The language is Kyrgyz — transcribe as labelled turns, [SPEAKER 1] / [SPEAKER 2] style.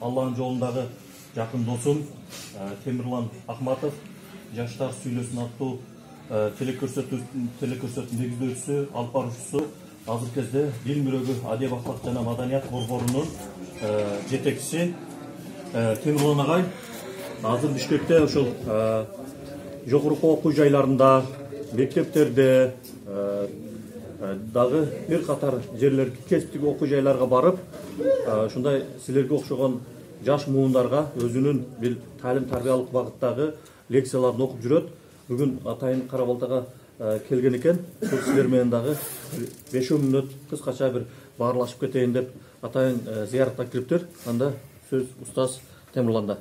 [SPEAKER 1] Алланын жолундагы жакын досум Темирлан Ахматов жаштар сүйлөсүн аттуу телекөрсөтүүнүн негиздөөчүсү, алып баруучусу, азыркы кезде Дил мүрөгү Адеп Акпак жана Маданият борборунун жетекчиси Темирлан агай азыр Бишкекте ошол жогорку окуу жайларында, мектептерде дагы бир катар жерлерге, кесиптик окуу жайларга барып, ушундай силерге окшогон жаш муундарга өзүнүн бир талим-тарбиялык багыттагы лекцияларын окуп жүрөт. Бүгүн атайын Кара Балтага келген экен. Бул силер менен дагы 5 мүнөт кыскача бир баарлашып кетейин деп атайын зыяратка кириптир. Анда сөз устаз Темирланда.